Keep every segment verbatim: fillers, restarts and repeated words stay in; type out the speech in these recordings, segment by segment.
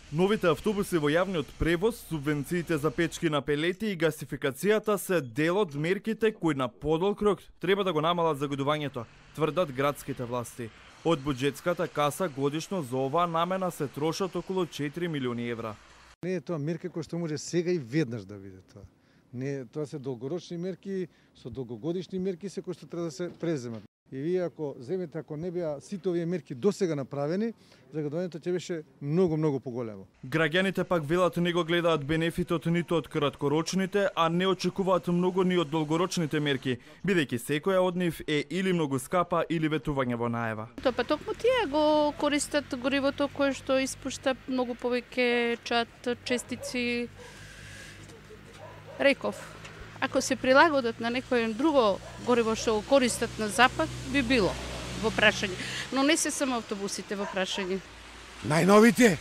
Новите автобуси во јавниот превоз, субвенциите за печки на пелети и гасификацијата се дел од мерките кои на подолг рок треба да го намалат загадувањето, тврдат градските власти. Од буџетската каса годишно за оваа намена се трошат околу четири милиони евра. Не е тоа мерка која што може сега и веднаш да биде тоа. Не, тоа се долгорочни мерки, со долгогодишни мерки се кои што треба да се преземат. И вие ако земете, ако не беа сите овие мерки досега направени, загадувањето ќе беше многу, многу поголемо. Граѓаните пак велат не го гледаат бенефитот ниту од краткорочните, а не очекуваат многу ни од долгорочните мерки, бидејќи секоја од нив е или многу скапа или ветување во најава. Тоа па токму тие го користат горивото кое што испушта многу повеќе чад, честици. Реков, ако се прилагодат на некој друго гориво што го користат на запад, би било во прашање. Но не се само автобусите во прашање. Најновите?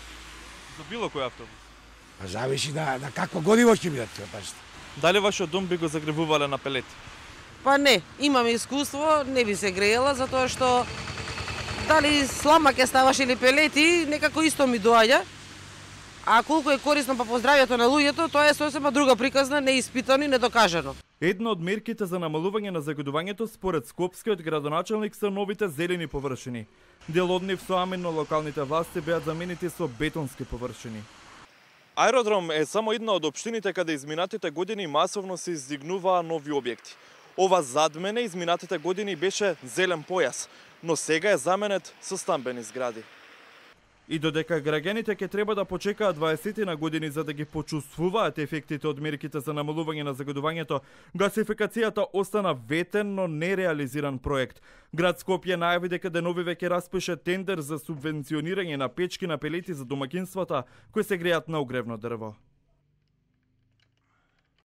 За било кој автобус? Па зависи на, на какво гориво ќе бидат, пашите. Дали вашиот дом би го загревувале на пелети? Па не, имам искуство, не би се греела, затоа што дали слама ќе ставаш или пелети, некако исто ми доаѓа. А колку е корисно па по здравјето на луѓето, тоа е сосема друга приказна, неиспитано и недокажано. Една од мерките за намалување на загадувањето според скопскиот градоначелник се новите зелени површини. Дел од нив со амин на локалните власти беа заменети со бетонски површини. Аеродром е само една од општините каде изминатите години масовно се издигнуваа нови објекти. Ова зад мене изминатите години беше зелен појас, но сега е заменет со стамбени згради. И додека граѓаните ќе треба да почекаат дваесет на години за да ги почувствуваат ефектите од мерките за намалување на загадувањето, гасификацијата остана ветен, но нереализиран проект. Град Скопје најави дека деновиве ќе распише тендер за субвенционирање на печки на пелети за домаќинствата кои се греат на угревно дрво.